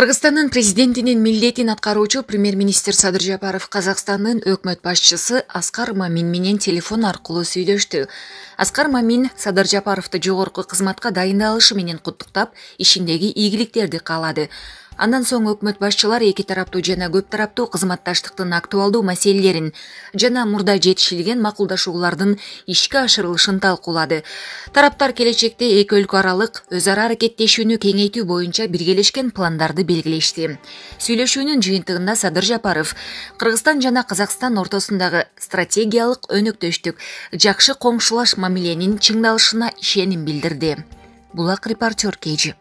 Кыргызстандын президентинин милдетин аткаруучу премьер-министр Садыр Жапаров Казакстандын өкмөт башчысы Аскар Мамин менен телефон аркылуу сүйлөштү. Аскар Мамин Садыр Жапаровду жогорку кызматка дайындалышы менен куттуктап, ишиндеги ийгиликтерди каалады. Андан соң өкмөт башчылар эки тараптуу жана көп тараптуу кызматташтыктын актуалдуу маселелерин жана мурда жетишилген макулдашуулардын ишке ашырылышын талкуулады. Тараптар келечекте эки өлкө аралык өз ара аракеттешүүнү кеңейтүү боюнча биргелешкен пландарды белгилешти. Сүйлөшүүнүн жыйынтыгында Садыр Жапаров Кыргызстан жана Казакстан ортосундагы стратегиялык өнөктөштүк, жакшы коңшулаш мамиленин чыңдалышына ишеним билдирди. Булак репортер Кежи.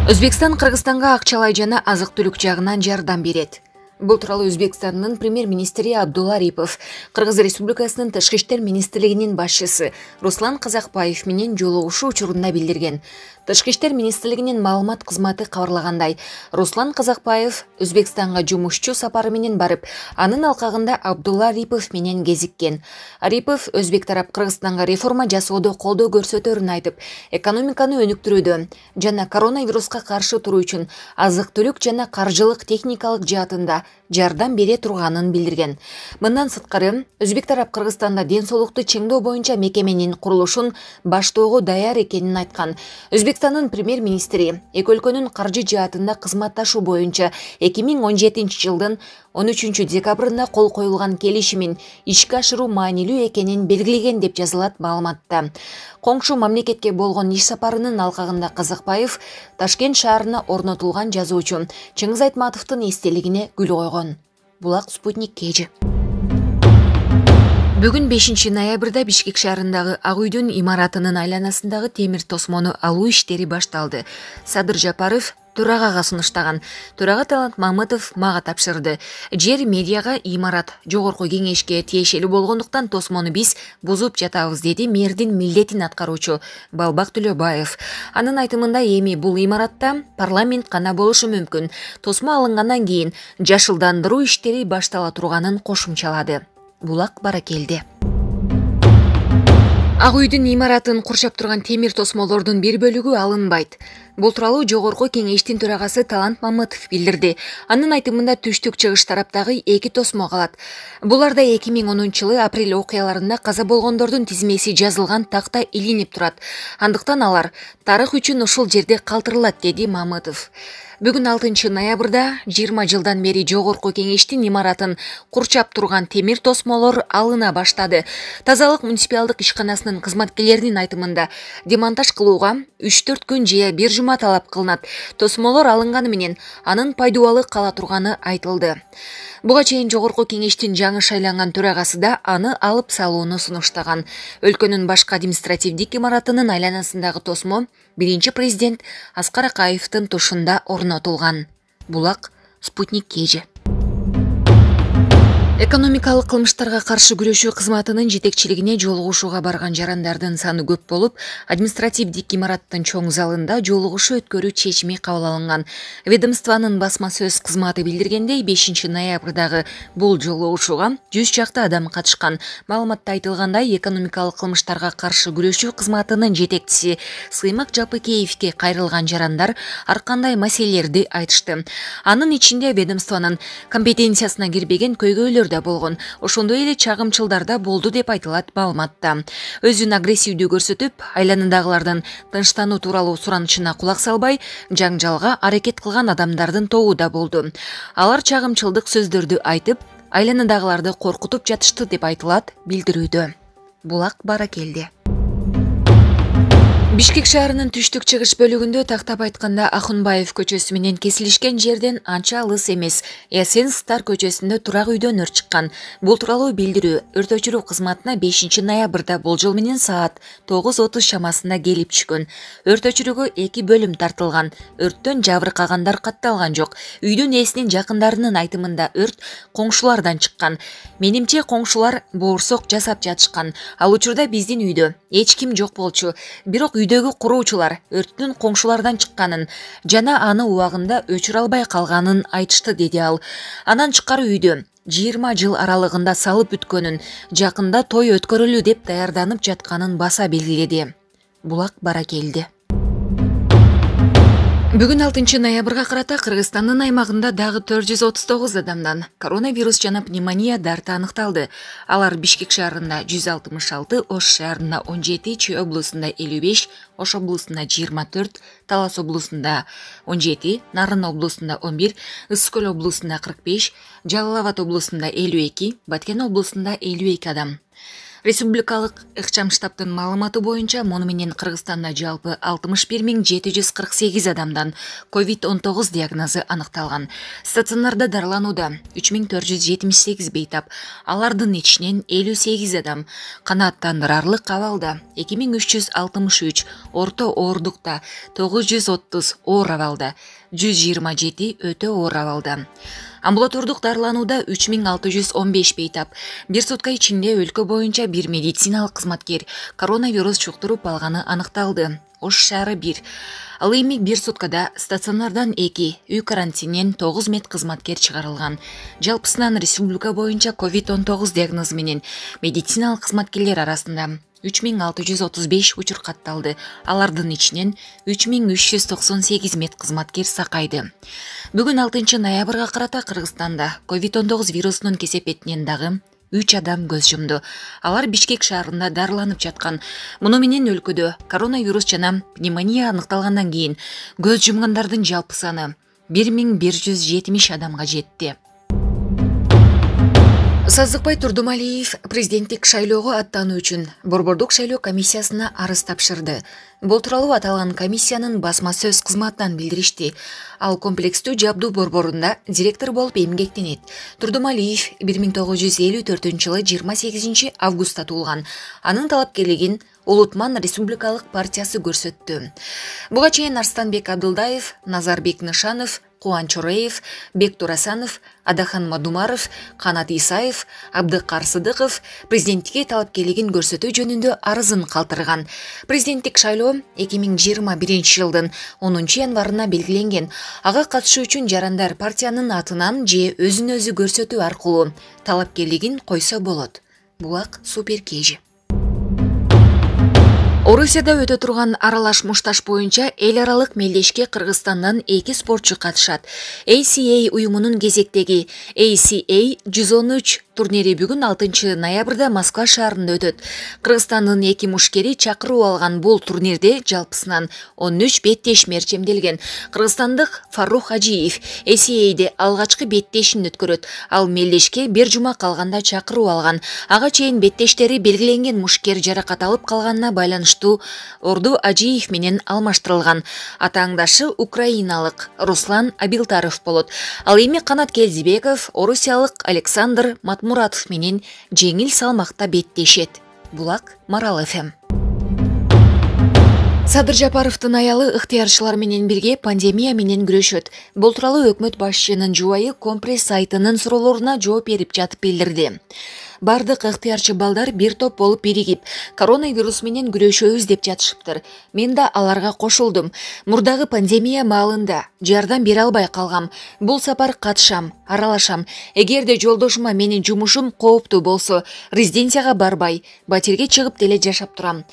Өзбекстан Кыргызстанга акчалай жана азык-түлүк жагынан жардам берет. Бул тууралуу Өзбекстандын премьер-министри Абдулла Арипов Кыргыз Республикасынын Тышкы иштер министрлигинин башчысы Руслан Казакбаев менен жолугушуу учурунда билдирген. Тышкы иштер министрлигинин маалымат кызматы кабарлагандай, Руслан Казакбаев Өзбекстанга жумушчу сапары менен барып, анын алкагында Абдулла Арипов менен кезиккен. Арипов өзбек тарап Кыргызстанга реформа жасоодо колдоо көрсөтөрүн айтып, экономиканы өнүктүрүүдө жана коронавируска каршы туруу үчүн азык-түлүк жана каржылык техникалык жаатында жардам бере турганын билдирген. Мындан сырткары, өзбек тарап Кыргызстанда ден соолукту чыңдоо боюнча мекеменин курулушун баштоого даяр экенин айткан. Өзбекстандын премьер-министри эки өлкөнүн каржы жаатында кызматташуу боюнча 2017 жылдын 13 декабрында кол коюлган келишимин ишке ашыруу маанилүү экенин белгилеген деп жазылат маалыматта. Коңшу мамлекетке болгон иш сапарынын алкагында Казакбаев Ташкент шаарына орнотулган жазуучу Чыңгыз Айтматовдун эстелигине гүл койгон. Булак Спутник Кежи. Бүгүн 5 ноябрда Бишкек шаарындагы Ак үйдүн имаратынын айланасындагы темир тосмону алуу иштери башталды. Садыр Жапаров төрагага сунуштаган. Төрага Талант Мамытов мага тапшырды. Жер медиага имарат жогорку кеңешке тиешелүү болгондуктан тосмону биз бузуп жатабыз, деди мэрдин милдетин аткаруучу Балбак Төлөбаев. Анын айтымында эми бул имаратта парламент гана болушу мүмкүн. Тосмо алынгандан кийин жашылдандыруу иштери баштала турганын кошумчалады. Булак Баракелди. Ак үйдүн имаратын курчап турган темир тосмолордун бир бөлүгү алынбайт. Бул тууралуу жогорку кеңештин төрагасы Талант Мамытов билдирди. Анын айтымында түштүк чыгыш тараптагы эки тосмо калат. Буларда 2010 жылы апрель окуяларында каза болгондордун тизмеси жазылган такта илинип турат. Андыктан алар тарых үчүн ушул жерде калтырылат, деди Мамытов. Бүгүн 6 ноябрда 20 жылдан бери жогорку кеңештин имаратын курчап турган темир тосмолор алына баштады. Тазалык муниципалдык ишканасынын кызматкерлеринин айтымында демонтаж кылууга 3-4 күн же бир жума талап кылынат. Тосмолор алынганы менен анын пайдубалы кала турганы айтылды. Буга чейин жогорку кеңештин жаңы шайланган төрагасы да аны алып салууну сунуштаган. Өлкөнүн башкы административдик имаратынын айланасындагы тосмо биринчи президент Аскар Акаевдин тушунда орнотулган. Булак Спутник Кежи. Экономикалык кылмыштарга каршы күрөшүү кызматынын жетекчилигине жолугушууга барган жарандардын саны көп болуп, административдик имараттын чоң залында жолугушуу өткөрүү чечими кабыл алынган. Ведомствонун басма сөз кызматы билдиргендей, 5-ноябрдагы бул жолугушууга 100 чакты адам катышкан. Маалыматта айтылгандай, экономикалык кылмыштарга каршы күрөшүү кызматынын жетекчиси Сыймык Жапыкеевке кайрылган жарандар ар кандай маселелерди айтышты. Анын ичинде ведомствонун компетенциясына кирбеген көйгөйлөр да болгон. Ошондой эле чагымчылдар да болду деп айтылат маалыматта. Өзүн агрессивдүү көрсөтүп, айланадагылардын тынчтануу тууралуу суранычына кулак салбай, жаңжалга аракет кылган адамдардын тобу да болду. Алар чагымчылдык сөздөрдү айтып, айланадагыларды коркутуп жатышты деп айтылат билдирүүдө. Булак Баракелди. Бишкек шаарынын түштүк-чыгыш бөлүгүндө, тактап айтканда, Ахунбаев көчөсү менен кесилишкен жерден анча алыс эмес Ясенстар көчөсүндө турак үйдөн өрт чыккан. Бул тууралуу билдирүү өрт өчүрүү кызматына 5-ноябрда болжол менен саат 9:30 чамасында келип түшкөн. Өрт өчүрүүгө 2 бөлүм тартылган. Өрттөн жабыркагандар катталган жок. Үйдүн ээсинин жакындарынын айтымында өрт коңшулардан чыккан. Менимче коңшулар боорсок жасап жатышкан. Ал учурда биздин үйдө эч ким жок болчу. Бирок үйдөгү куруучулар өрттүн коңшулардан чыкканын жана аны убагында өчүрө албай калганын айтышты, деди ал. Анан чыккар үйдө 20 жыл аралыгында салып бүткөнүн, жакында той өткөрүлүү деп даярданып жатканын баса белгиледи. Булак Баракелди. Бүгүн 6-ноябрга карата Кыргызстандын аймагында дагы 439 адамдан коронавирус жана пневмония дарты аныкталды. Алар Бишкек шаарында 166, Ош шаарында 17, Чүй облусунда 55, Ош облусунда 24, Талас облусунда 17, Нарын облусунда 11, Ысык Көл облусунда 45, Жалал Абад облусунда 52, Баткен облусунда 52 адам. Республикалык ыкчам штабтын маалыматы боюнча, муну менен Кыргызстанда жалпы 61748 адамдан COVID-19 диагнозу аныкталган. Стационарда дарыланууда 3478 бейтап, алардын ичинен 58 адам канааттандырарлык абалда, 2363 орто оорлукта, 930 оор абалда, 127 өтө оор абалда. Амбулатордук дарыланууда 3615 бейтап. Бир сутка ичинде өлкө боюнча бир медициналык кызматкер коронавирус чуктуруп алганы аныкталды. Ош шаары 1. Ал эми бир суткада стационардан 2, үй карантининен 9 медкызматкер чыгарылган. Жалпысынан республика боюнча COVID-19 диагнозу менен медициналык кызматкерлер арасында 3635 учур катталды. Алардын ичинен 3398 медкызматкер сакайды. Бүгүн 6-ноябрга карата Кыргызстанда COVID-19 вирусунун кесепетинен дагы 3 адам көз жумду. Алар Бишкек шаарында дарыланып жаткан. Муну менен өлкөдө коронавирус жана пневмония аныкталгандан кийин көз жумгандардын жалпы саны 1170 адамга жетти. Саздыкбай Турдумалиев президенттик шайлоого аттануу үчүн Борбордук шайлоо комиссиясына арыз тапшырды. Бул тууралуу аталган комиссиянын басма сөз кызматынан билдиришти. Ал комплекстүү жабдуу борборунда директор болуп эмгектенет. Турдумалиев 1954-жылы 28 августта туулган. Анын талапкерлигин Улутман Республикалык партиясы көрсөттү. Буга чейин Арстанбек Абдылдаев, Назарбек Нышанов, Кубан Чореев, Бек Турасанов, Адахан Мадумаров, Канат Исаев, Абдыкар Сыдыков президенттикке талапкерлигин көрсөтүү жөнүндө арызын калтырган. Президенттик шайлоо 2021 жылдын 10 январына белгиленген. Ага катышуу үчүн жарандар партиянын атынан же өзүн өзү көрсөтүү аркылуу талапкерлигин койсо болот. Булак Суперкежи. Орусияда өтө турган аралаш мушташ боюнча эл аралык мелдешке Кыргызстандан 2 спортчу катышат. ACA уюмунун кезектеги ACA 113 турнири бүгүн 6-ноябрда Москва шаарында өтөт. Кыргызстандын 2 мушкери чакыруу алган бул турнирде жалпысынан 13 беттеш мерчемделген. Кыргызстандык Фарух Ажиев ACA'де алгачкы беттешин өткөрөт. Ал мелдешке бир жума калганда чакыруу алган. Ага чейин беттештери белгиленген мушкер жаракат алып калганына байланыштуу Орду Ажиев менен алмаштырылган. Атааңдашы украиналык Руслан Абилтаров болот. Ал эми Канат Келдибеков орусиялык Александр Матмуратов менен жеңил салмакта беттешет. Булак Марал ФМ. Садыр Жапаровдун аялы ыктыярчылар менен бирге пандемия менен күрөшөт. Бул тууралуу өкмөт башчынын жубайы Компресс сайтынын суроолоруна жооп берип жатып билдирди. Бардык ыктыярчы балдар бир топ болуп биригип, коронавирус менен күрөшөбүз деп жатышыптыр. Мен да аларга кошулдум. Мурдагы пандемия маалында жардам бере албай калгам. Бул сапар катышам, аралашам. Эгерде жолдошума менин жумушум кооптуу болсо, резиденцияга барбай, батирге чыгып деле жашап турам.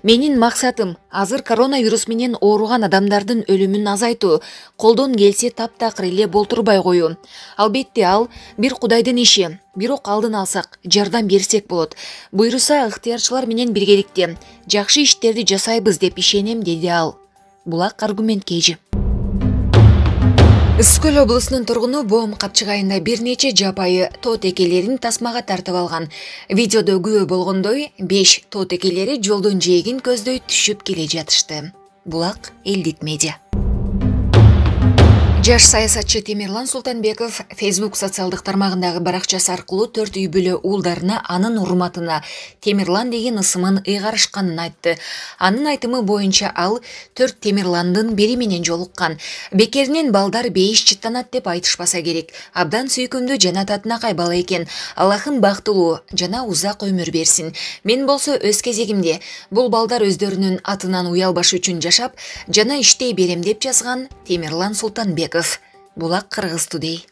Менин максатым азыр коронавирус менен ооруган адамдардын өлүмүн азайтуу, колдон келсе таптакыр эле болтурбай коюу. Албетте ал бир Кудайдын иши. Бирок алдын алсак, жардам берсек болот. Буйруса ыктыярчылар менен биргеликте жакшы иштерди жасайбыз деп ишенем, деди ал. Булак аргумент кейжи. Ысык Көл облусунун тургуну Боом Капчык айында бир нече жапайы тоот экелерин тасмага тартып алган. Видеодо күбө болгондой, 5 тоот экелери жолдун жээгин көздөй түшүп келе жатышты. Булак элдик медиа. Жаш саясатчы Темирлан Султанбеков Facebook социалдык тармагындагы баракчасы аркылуу 4 үй бүлө уулдарына анын урматына Темирлан деген ысымын ыйгарышканын айтты. Анын айтымы боюнча ал 4 Темирландын бири менен жолуккан. Бекеринен балдар бейиш чыттанат деп айтышпаса керек. Абдан сүйкүмдүү жана татынакай бала экен. Аллахым бактылуу жана узак өмүр берсин. Мен болсо өз кезегимде бул балдар өздөрүнүн атынан уялбаш үчүн жашап жана иштей берем деп жазган Темирлан Султанбеков. Булак Кыргыз Today.